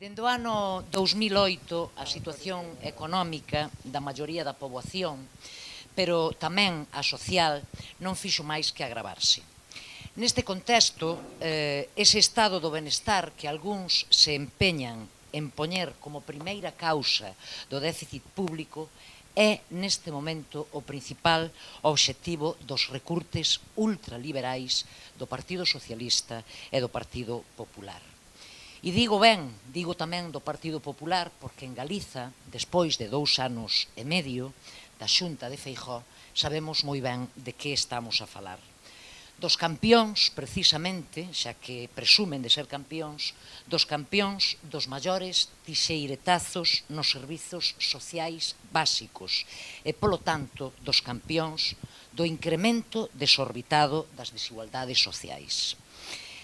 Dende o ano 2008, a situación económica da maioría da poboación, pero tamén a social, non fixo máis que agravarse. Neste contexto, ese estado do benestar que algúns se empeñan en poñer como primeira causa do déficit público é, neste momento, o principal obxectivo dos recurtes ultraliberais do Partido Socialista e do Partido Popular. E digo tamén do Partido Popular, porque en Galiza, despois de 2 anos e medio da Xunta de Feijóo, sabemos moi ben de que estamos a falar. Dos campións, precisamente, xa que presumen de ser campións, dos campións dos maiores tixeiretazos nos servizos sociais básicos e, polo tanto, dos campións do incremento desorbitado das desigualdades sociais.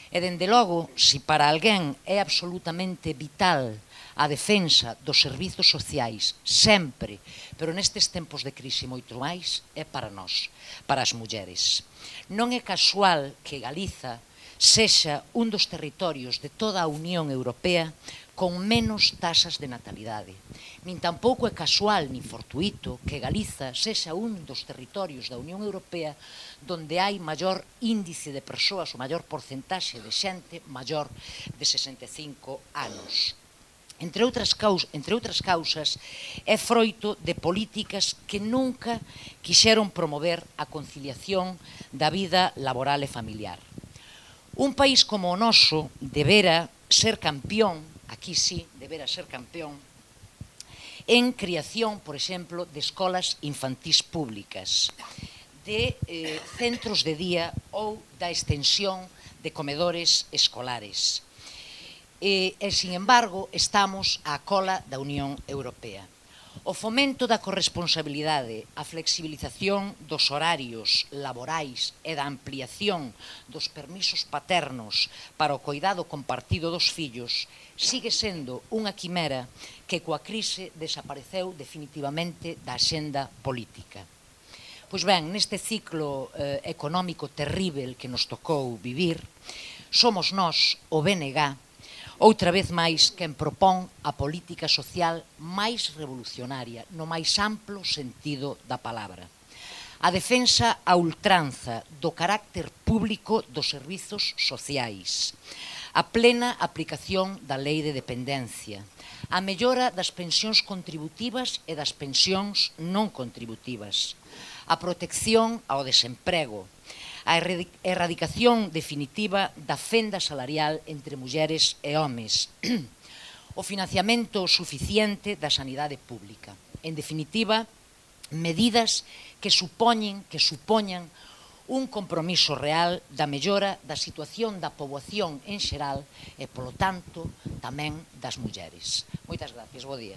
E, dende logo, se para alguén é absolutamente vital a defensa dos servizos sociais sempre, pero nestes tempos de crise moito máis, é para nós, para as mulleres. Non é casual que Galiza sexa un dos territorios de toda a Unión Europea con menos tasas de natalidade. Nin tampouco é casual nin fortuito que Galiza sexa un dos territorios da Unión Europea donde hai maior índice de persoas, o maior porcentaxe de xente maior de 65 anos. Entre outras causas, é froito de políticas que nunca quixeron promover a conciliación da vida laboral e familiar. Un país como o noso debera ser campión, aquí sí, debera ser campión, en creación, por exemplo, de escolas infantís públicas, de centros de día ou da extensión de comedores escolares. E, sin embargo, estamos á cola da Unión Europea. O fomento da corresponsabilidade, a flexibilización dos horarios laborais e da ampliación dos permisos paternos para o coidado compartido dos fillos sigue sendo unha quimera que coa crise desapareceu definitivamente da axenda política. Pois ben, neste ciclo económico terrível que nos tocou vivir, somos nós, o BNG, outra vez máis quen propón a política social máis revolucionaria, no máis amplo sentido da palabra. A defensa a ultranza do carácter público dos servizos sociais, a plena aplicación da lei de dependencia, a mellora das pensións contributivas e das pensións non contributivas, a protección ao desemprego, a erradicación definitiva da fenda salarial entre mulleres e homes, o financiamento suficiente da sanidade pública. En definitiva, medidas que supoñan un compromiso real da mellora da situación da poboación en xeral e, polo tanto, tamén das mulleres. Moitas gracias, bo día.